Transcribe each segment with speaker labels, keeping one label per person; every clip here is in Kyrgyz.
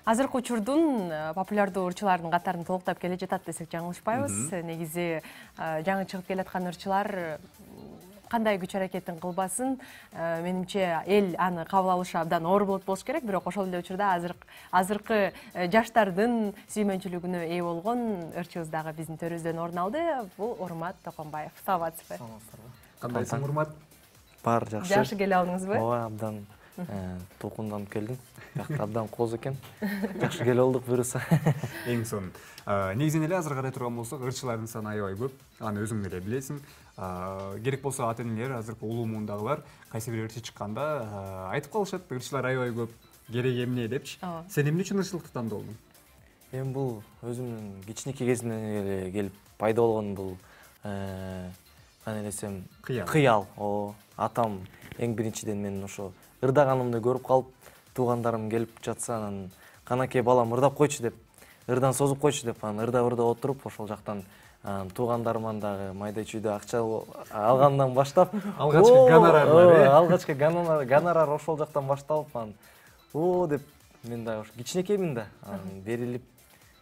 Speaker 1: Азыркы учурдун популярдуу ырчылардын катарын толуктап келе жатат десек жаңылышпайбыз. Негизи жаңы чыгып келаткан ырчылар кандай күч аракетин кылбасын, менимче эл аны кабыл алышы абдан оор болуш керек, бирок ошол эле учурда азыркы жаштардын сүймөнчүлүгүнө ээ болгон ырчыбыз дагы биздин төрүбүздөн орун алды. Бул Урмат Токонбаев. Саламатсызбы?
Speaker 2: Кандайсың, Урмат?
Speaker 3: Бар, жакшы.
Speaker 1: Жакшы келе алдыңызбы?
Speaker 3: Ооба, абдан толкунданып келдим. Бияқта абдан кооз экен. Жакшы келе болдук буюрса.
Speaker 2: Эң сонун. Негизинен эле азыр карай турган болсок, ырчылардын саны аябай көп. Аны өзүң деле билесиң. Керек болсо ата-энелер, азыркы улуу муундагылар кайсы бир ырчы чыкканда айтып калышат, ырчылар аябай көп, керек эмне депчи. Сен эмне үчүн ырчылыкты тандоодуң?
Speaker 3: Эми бул өзүмдүн кичинекей кезимден эле келип пайда болгон бул кандай десем, кыял. Атам эң биринчиден мен ошо ырдаганымды көрүп калып, туугандарым келип жатса, анан канакей балам ырдап койчу деп, ырдан созуп койчу деп, анан ырдап отуруп, ошол жактан туугандарыман дагы майда чүйдө акча алгандан баштап, алгачкы гонорар ошол жактан башталып, анан деп мен дагы кичинекеймин да, анан берилип,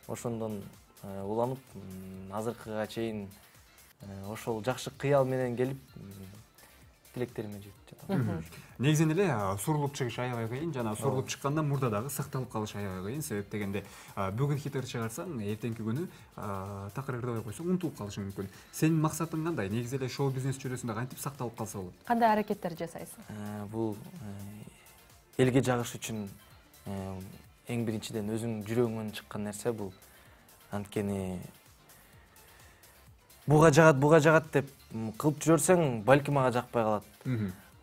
Speaker 3: ошондон уланып, азыркыга чейин ошол жакшы кыял менен келип, тилектериме жетип жатам.
Speaker 2: Негизинен эле сурулуп чыгыш аябай кыйын, жана сурулуп чыккандан мурда дагы сакталып калыш аябай кыйын. Себеп дегенде бүгүн хит чыгарсаң, эртеңки күнү такыр ырдабай койсоң унутулуп калышың мүмкүн. Сенин максатың кандай? Негизи эле шоу бизнес чөйрөсүндө кантип сакталып калса болот?
Speaker 1: Кандай аракеттер жасайсың?
Speaker 3: Бул элге жагыш үчүн эң биринчиден өзүң жүрөгүңөн чыккан нерсе бул. Анткени буга жагат деп кылып жүрсөң, балки мага жакпай калат.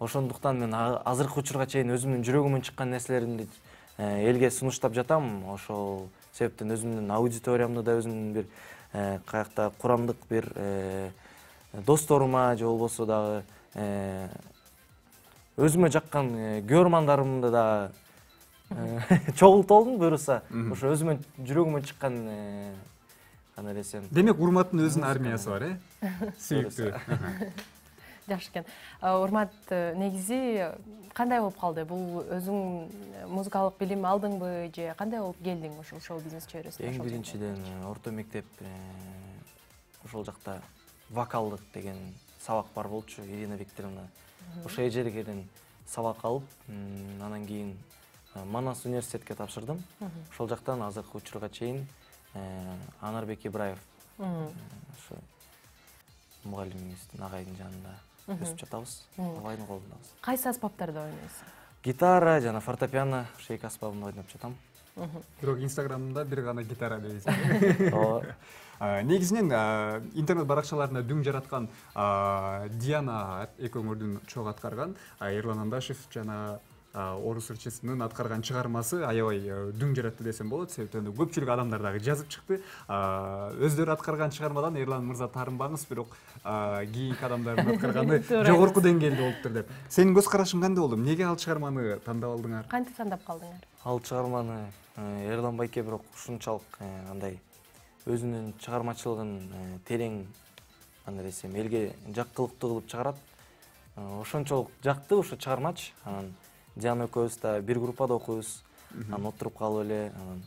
Speaker 3: Ошондуктан мен азыркы учурга чейин өзүмдүн жүрөгүмөн чыккан нерселеримди элге сунуштап жатам. Ошол себептен өзүмдүн аудиториямды да өзүмдүн бир каякта курамдык бир досторума же болбосо дагы өзүмө жаккан көрмандарымды да чогултуп алдым буюрса. Ошо өзүмөн жүрөгүмөн чыккан кандай десем.
Speaker 2: Демек, Урматтын өзүнүн армиясы бар, Сүйүктүү.
Speaker 1: Жакшы экен. Урмат, негизи кандай болуп калды? Бул өзүң музыкалык билим алдыңбы же кандай болуп келдиң ошол шоу бизнес чөйрөсүнө?
Speaker 3: Эң биринчиден орто мектеп ошол жакта вокалдык деген сабак бар болчу, Ирина Викторовна. Ошол эжергеден сабак алып, анан кийин Манас университетке тапшырдым. Ошол жактан азыркы учурга чейин Анарбек Ибраев ошо мугалимибиздин агайдын жанында өсүп жатабыз, агайдын колундабыз.
Speaker 1: Кайсы аспаптарда ойнойсуң?
Speaker 3: Гитара жана фортепиано, ошо эки аспабында ойноп жатам.
Speaker 2: Бирок Инстаграмда бир гана гитара дейсиң.
Speaker 3: Ооба.
Speaker 2: Негизинен интернет баракчаларында дүң жараткан Диана экөөңөрдүн чогуу аткарган Эрлан Андашев жана орус ырчысынын аткарган чыгармасы аябай дүң жаратты десем болот. Себептен көпчүлүк адамдар дагы жазып чыкты. Өздөрү аткарган чыгармадан Эрлан мырза таарынбаңыз, бирок кийинки адамдардын аткарганы жогорку деңгээлде болуптур деп. Сенин көз карашың кандай болду? Эмнеге ал чыгарманы тандап алдыңар?
Speaker 1: Кантип тандап калдыңар?
Speaker 3: Ал чыгарманы Эрлан байке бирок ушунчалык андай өзүнүн чыгармачылыгын терең кандай десем, элге жаккылыктуу кылып чыгарат. Ошончолук жакты ошо чыгармачы. Анан Диана экөөбүз да бир группада окуйбуз. Анан отуруп калып эле, анан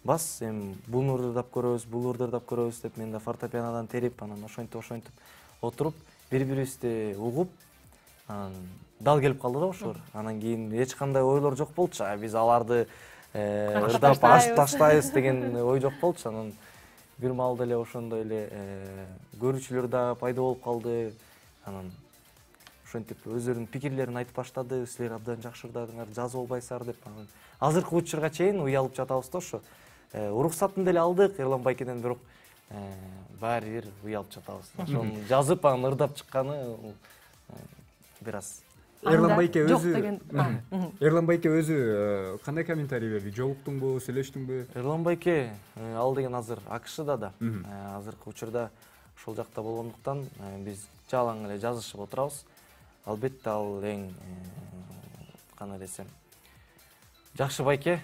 Speaker 3: бас эми буну ырдап көрөбүз деп мен да фортепианодан терип, анан ошентип отуруп, бири-бирибизди угуп, анан дал келип калды да ошолор. Анан кийин эч кандай ойлор жок болчу. Биз аларды ырдап ашып таштайбыз деген ой жок болчу. Анан бир маалда эле ошондой эле көрүүчүлөр да пайда болуп калды. Анан ошентип өздөрүнүн пикирлерин айтып баштады. Силер абдан жакшы ырдадыңар, жазып албайсыңар деп. Анан азыркы учурга чейин уялып жатабыз да ошо. Уруксатын деле алдык Эрлан байкеден, бирок баары бир уялып жатабыз. Ошону жазып, анан ырдап чыкканы бир аз.
Speaker 2: Эрлан байке өзү кандай комментарий берди? Жолуктуңбу, сүйлөштүңбү?
Speaker 3: Эрлан байке ал деген азыр АКШда да. Азыркы учурда ошол жакта болгондуктан биз жалаң эле жазышып отурабыз. Албетте ал эң кандай десем, жакшы байке.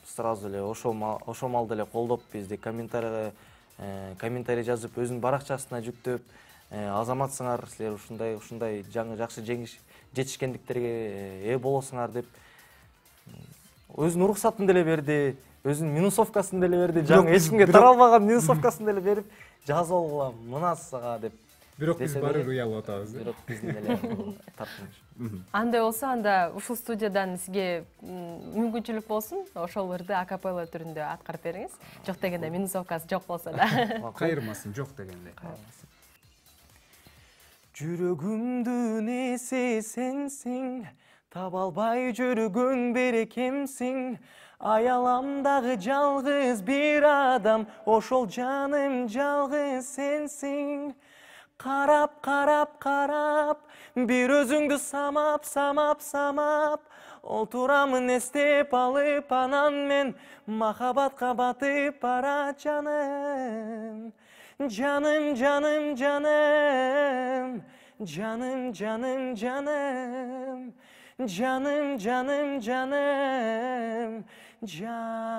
Speaker 3: Сразу эле ошол маалда эле колдоп, бизди комментарий жазып, өзүнүн баракчасына жүктөп, азаматсыңар, силер ушундай жаңы жакшы жетишкендиктерге ээ болосуңар деп өзүнүн уруксатын деле берди, өзүнүн минусовкасын деле берди, жаңы
Speaker 2: биз
Speaker 3: эч кимге
Speaker 2: бирок-
Speaker 3: таралбаган минусовкасын деле берип, жазып алгыла мына сага деп.
Speaker 2: Бирок биз
Speaker 3: десе
Speaker 2: баары
Speaker 3: деле,
Speaker 2: уялып атабыз.
Speaker 3: Бирок биздин деле тартыныш.
Speaker 1: Андай болсо анда ушул студиядан сизге мүмкүнчүлүк болсун, ошол ырды акапелла түрүндө аткарып бериңиз. Жок дегенде минусовкасы жок болсо да.
Speaker 2: Кайырмасын, жок дегенде.
Speaker 3: Жүрөгүмдүн эси сенсиң, таба албай жүргөн берекемсиң. Аяламдагы жалгыз бир адам, ошол жаным жалгыз сенсиң. Карап, карап, карап, бир өзүңдү самап, самап, самап. Отурамын эстеп алып, анан мен махабатка батып бара жаным. Жаным, жаным, жаным, жаным, жаным, жаным, жаным, жаным, жаным, жаным.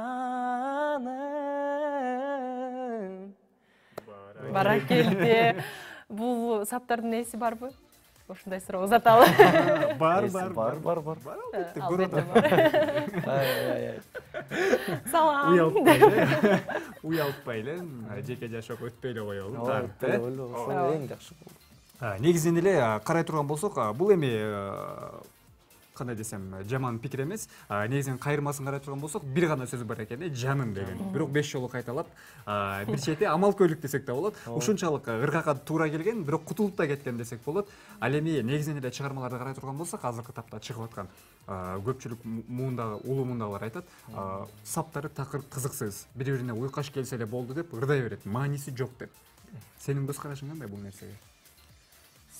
Speaker 1: Баракелде. Бул саптардын эси барбы? Ушундай суроо узаталы.
Speaker 2: Бар.
Speaker 1: Албетте бар. Салам.
Speaker 2: Уялтпай эле, жеке жашоого өтпөй эле коелу.
Speaker 3: Ошол эң жакшы болду.
Speaker 2: Негизинен эле карай турган болсок, бул эми кандай десем, жаман пикир эмес. Негизинен кайырмасын карай турган болсок, бир гана сөз бар экен, жаным деген. Бирок 5 жолу кайталап, бир чети амалкөйлүк десек да болот. Ушунчалык ыргакка туура келген, бирок кутулуп да кеткен десек болот. Ал эми негизинен эле чыгармаларды карай турган болсок, азыркы тапта чыгып аткан көпчүлүк муундагы, улуу муундагылар айтат, саптары такыр кызыксыз, бири-бирине уйкаш келсе эле болду деп ырдай берет, мааниси жок деп. Сенин көз карашың кандай бул нерсеге?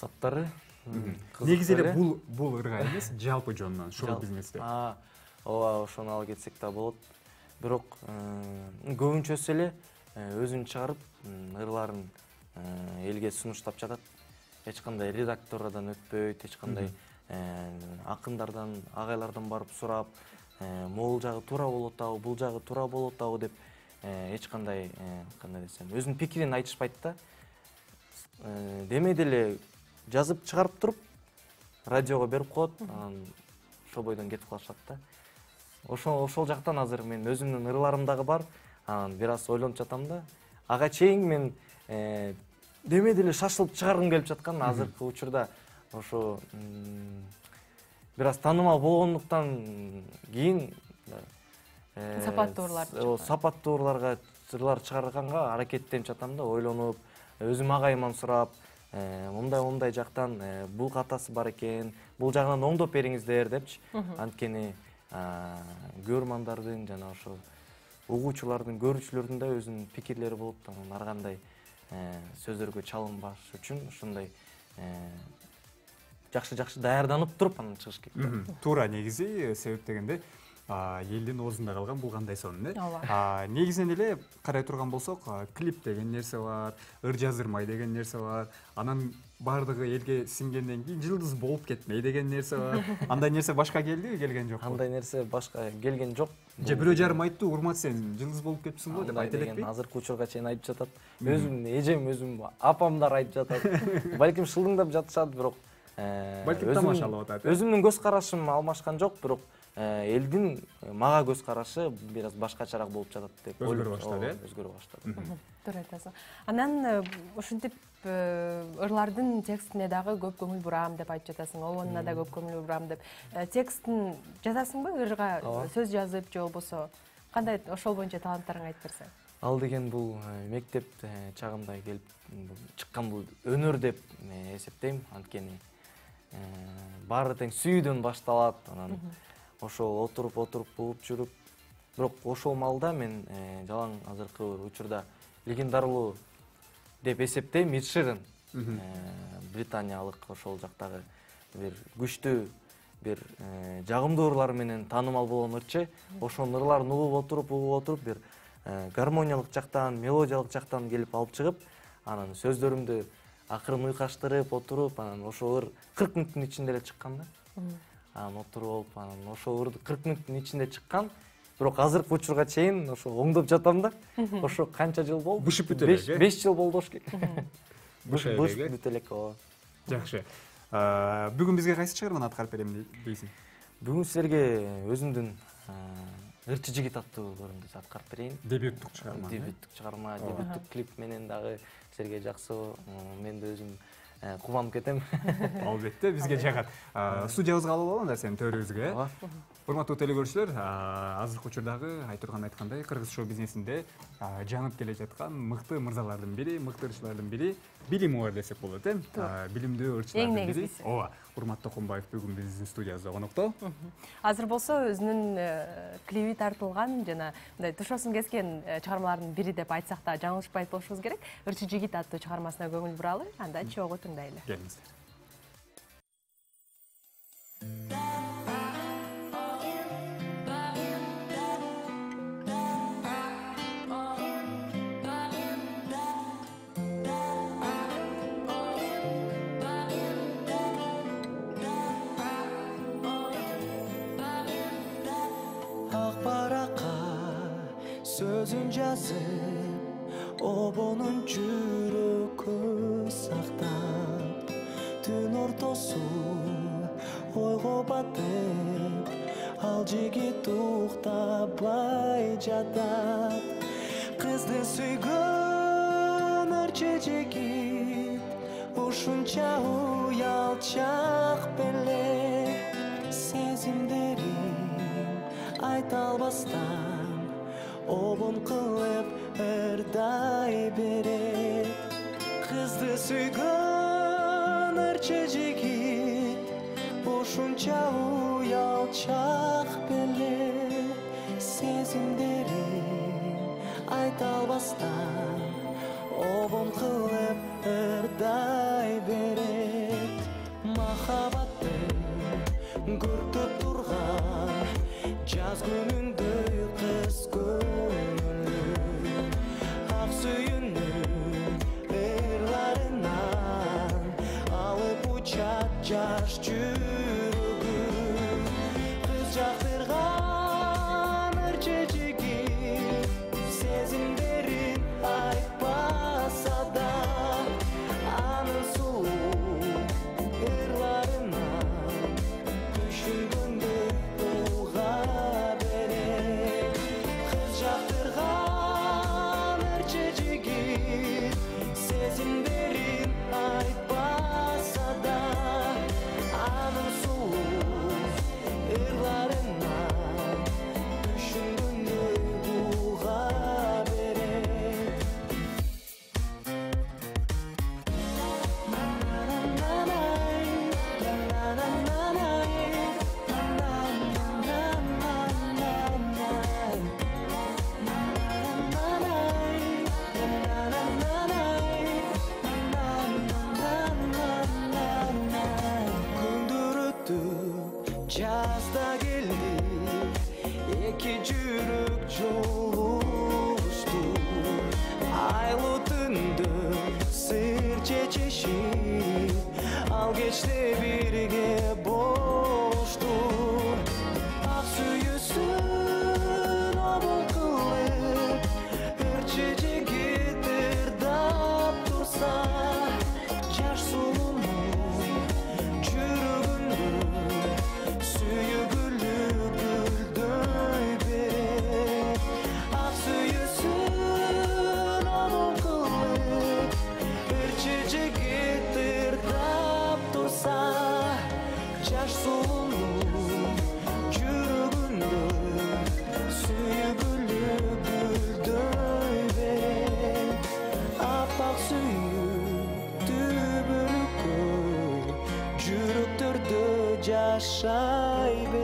Speaker 3: Саптары
Speaker 2: Негизи эле бул ырга эмес, жалпы жонунан шоу бизнесте.
Speaker 3: Ооба, ошону ала кетсек да болот. Бирок көбүнчөсү эле өзүн чыгарып, ырларын элге сунуштап жатат. Эч кандай редактордон өтпөйт, эч кандай акындардан, агайлардан барып сурап, могул жагы туура болуп атабы, бул жагы туура болуп атабы деп эч кандай десем, өзүнүн пикирин айтышпайт да. Демей деле жазып чыгарып туруп, радиого берип коет, анан ошол бойдон кетип калышат да. Ошол жактан азыр мен өзүмдүн ырларым дагы бар, анан бир аз ойлонуп жатам да. Ага чейин мен демей деле шашылып чыгаргым келип жаткан, азыркы учурда ошо бир аз таанымал болгондуктан кийин
Speaker 1: Сапаттуу
Speaker 3: ырларга ырлар чыгарганга аракеттенип жатам да, ойлонуп, өзүм агайыман сурап, мындай жактан бул катасы бар экен, бул жагынан оңдоп бериңиздер депчи. Анткени көрмандардын жана ошо угуучулардын, көрүүчүлөрдүн да өзүнүн пикирлери болот, анан ар кандай сөздөргө чалынбаш үчүн ушундай жакшы даярданып туруп анан чыгыш керек.
Speaker 2: Туура, негизи себеп дегенде элдин оозунда калган бул кандай сонун,
Speaker 1: Ооба.
Speaker 2: Негизинен эле карай турган болсок, клип деген нерсе бар, ыр жаздырмай деген нерсе бар, анан баардыгы элге сиңгенден кийин жылдыз болуп кетмей деген нерсе бар. Андай нерсе башка келдиби, келген жокпу?
Speaker 3: Андай нерсе башка келген жок.
Speaker 2: Же бирөө жарым айтты, урмат сен жылдыз болуп кетипсиң го деп айта элекпи?
Speaker 3: Азыркы учурга чейин айтып жатат. Өзүм эжем, апамдар айтып жатат. Балким шылдыңдап жатышат, бирок
Speaker 2: балким тамашалап атат.
Speaker 3: Өзүмдүн көз карашым алмашкан жок, бирок элдин мага көз карашы бир аз башкачараак болуп жатат деп
Speaker 2: өзгөрө баштады,
Speaker 3: өзгөрө баштады.
Speaker 1: Туура айтасың. Анан ушинтип ырлардын текстине дагы көп көңүл бурам деп айтып жатасың, обонуна да көп көңүл бурам деп. Текстин жазасыңбы, ырга сөз жазып же болбосо кандай, ошол боюнча таланттарыңы айтып берсең?
Speaker 3: Ал деген бул мектеп чагымда келип чыккан бул өнөр деп эсептейм, анткени баары тең сүйүүдөн башталат, анан ошол отуруп угуп жүрүп, бирок ошол маалда мен жалаң азыркы учурда легендарылуу деп эсептейм Эд Ширан, британиялык ошол жактагы бир күчтүү, бир жагымдуу ырлар менен таанымал болгон ырчы. Ошонун ырларын угуп отуруп бир гармониялык жактан, мелодиялык жактан келип алып чыгып, анан сөздөрүмдү акырын уйкаштырып отуруп, анан ошол ыр 40 мүнөттүн ичинде эле чыккан да. Анан отуруп, анан ошол ырды 40 мүнөттүн ичинде чыккан. Бирок азыркы учурга чейин ошо оңдоп жатам да. Ошо канча жыл болду?
Speaker 2: Бышып бүтө элек.
Speaker 3: 5 жыл болду ошо.
Speaker 2: Бышып
Speaker 3: бүтө элек.
Speaker 2: Жакшы. Бүгүн бизге кайсы чыгарманы аткарып берем дейсиң?
Speaker 3: Бүгүн силерге өзүмдүн Ырчы жигит аттуу көрүндү аткарып берейин.
Speaker 2: Дебюттук чыгарма.
Speaker 3: Дебюттук чыгарма, дебюттук клип менен дагы силерге жакшы. Мен да өзүм кубанып кетем.
Speaker 2: Албетте бизге жагат. Студиябызга алып алган сенин төрүбүзгө. Урматтуу телекөрүүчүлөр, азыркы учурдагы айткандай кыргыз шоу бизнесинде жаңып келе жаткан мыкты мырзалардын бири, мыкты ырчылардын бири Билим бар десек болот, билимдүү ырчылардын бири. Ооба, Урмат Токонбаев бүгүн биздин студиябызда конокто.
Speaker 1: Азыр болсо өзүнүн клиби тартылган жана мындай тушоосун кескен чыгармалардын бири деп айтсак да жаңылышпайт болушубуз керек. Ырчы жигит аттуу чыгармасына көңүл буралы, анда чогуу тыңдайлы.
Speaker 2: Келиңиздер.
Speaker 4: Sözün жазып, обонун жүрөгү сактап, түн ортосу ойго батып, ал жигит уктабай жатат. Кызды сүйгөн ырчы жигит, ушунча уялчак беле, сезимдерин айта албастан обон кылып ырдай берет. Кызды сүйгөн ырчы жигит, ушунча уялчак беле, сезимдерин айта албастан обон кылып ырдай берет. Махабаттын көртөп турган жаз күнүндөй кыз көңүлү, ак сүйүүнүн ырларынан алып учат жаш жүрөгү. Кыз жактырган ырчы жигит, сезимдерин айтпаса да, анын сулуу ырларынан түшүнгөндө уга берет. Кыз жактырган ырчы жигит, сезимдерин айтпаса да, анын сулуу ырларынан түшүнгөндө уга берет. Күндөр өтүп жазда келди, эки жүрөк жолугушту. Айлуу түндө сыр чечишип, ал кечте бирге болушту. Ак сүйүүсүн обон кылып, ырчы жигит ырдап турса, жаш сулуунун жүрөгүндө сүйгүлү гүлдөй берет. Ак сүйүүсүн обон кылып, ырчы жигит ырдап турса, жаш сулуунун жүрөгүндө сүйгүлү гүлдөй берет. Аппак сүйүктүү бөлүккө жүрөктөрдө жашай берет.